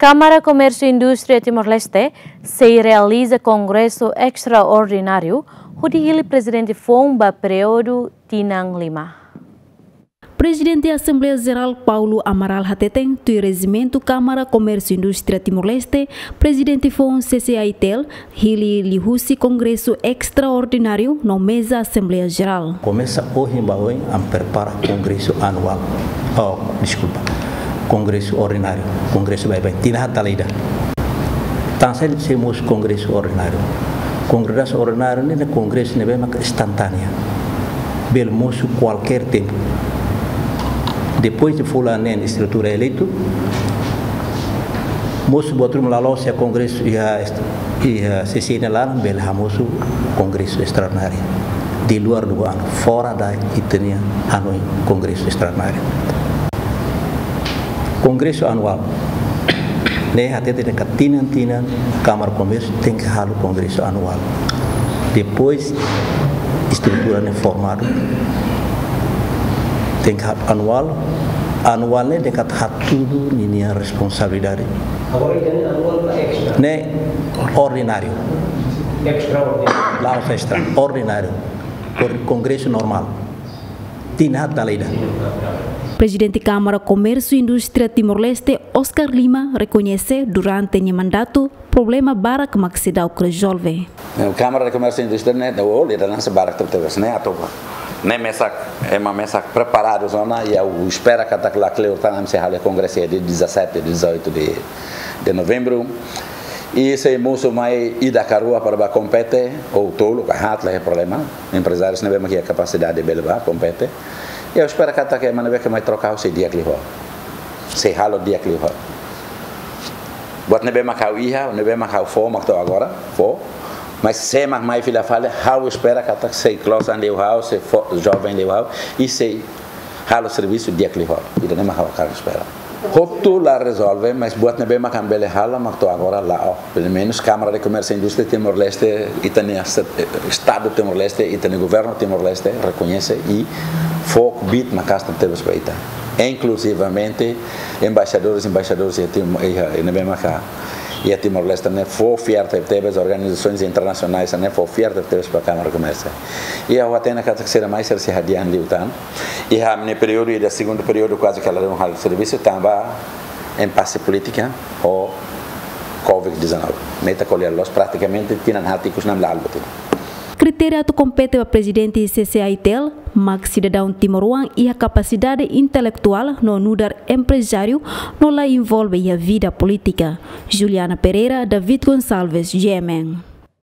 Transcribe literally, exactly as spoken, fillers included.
Kámara Komérsiu Indústria Timor-Leste sei realiza kongresu estraordináriu hodi hili prezidente foun ba períodu tinan lima. Prezidente Asembleia Jerál Paulo Amaral hateten, tuir rejimentu Kámara Komérsiu Indústria Timor-Leste, prezidente foun C C I T L hili liuhusi kongresu estraordináriu no meza Asembleia Jerál. Komesa ohin ba oin ami prepara kongresu anuál. Oh, deskulpa. Kongresu ordináriu. Kongresu baibain. Tinan haat dala ida. Tansá sei mosu kongresu ordináriu? Kongresu ordináriu ne'e kongresu ne'ebé maka instantánea. Bele mosu kualkér tempu. Depois de fulan neen estrutura eleitu, mosu buat ruma, la'ós iha kongresu, iha est-, iha C C I nia laran, bele hamosu kongresu estraordináriu. Di luar dua anu, fora da ita-nia anu kongresu estraordináriu. Kongresu anuál. Ne'e hateten katak tinan-tinan Kámara Komérsiu tenke halo kongresu anuál. Depois estrutura ne'e formadu, tenke halo anuál. Anuál ne'e dekat hatudu ninia responsabilidade. Agora ita-nia anuál ka extra? Ne'e ordináriu. Extraordináriu. La'ós extra, ordináriu. Kon-, kongresu normál. Tinan haat dala ida. Prezidente Kámara Komérsiu Indústria Timor-Leste, Oscar Lima, rekoñese durante nia mandatu problema barak mak seidauk rezolve. Kámara de Komérsiu Indústria ne'e, o lideransa barak tebes ne'e atu ba. Ne'e mesak, ema mesak preparadu ona, i ha'u espera katak lakleur tan ami sei halo kongresu dia dezassete, dezoito de, de novembro. I sei mosu mai ida ka rua para ba kompete, ou tolu ka haat, la iha problema. Emprezáriu ne'ebé mak iha kapasidade bele ba kompete. I ha'u espera katak ema ne'ebé ke mai troka ha'u sei di'ak liu ha'u. Sei halo di'ak liu ha'u. Buat ne'ebé mak ha'u iha, ne'ebé mak ha'u fó, mak to'o agora fó. Mas sé mak mai fila fali, ha'u espera katak sei klosan liu ha'u, sei fó joven liu ha'u, i sei halo servisu di'ak liu ha'u. Ida-ne'e mak ha'u hakarak espera. Hotu la rezolve, mas buat ne'ebé mak ami bele halo, mak to'o agora la'o. Pelumenus Kámara de Komérsiu Indústria Timor-Leste, ita-nia se-, eh, Estadu Timor-Leste, ita-nia Governu Timor-Leste rekoñese i fó kbiit maka'as tebes ba ita. Inkluzivamente embaixadores, embaixadores iha Tim-, iha, iha ne'ebé maka iha Timor-Leste ne'e fó fiar tebes, organizasoens internasionais ne'e fó fiar tebes ba Kámara Komérsiu. I ha'u hatene katak sira mai sira sei hadi'a liután. Iha ami-nia períodu, iha segundu períodu kuaze ke ladún halo servisu, tanba impase polítika ho covid dezanove. Ne'e ita ko'alia loos, pratikamente tinan haat ikus ne'e ami la halo buat ida. Kritéria atu kompete ba prezidente C C I T L mak sidadaun timoroan iha kapasidade intelektuál no nu'udar emprezáriu no la envolve iha vida polítika. Juliana Pereira, David Gonçalves, G M N.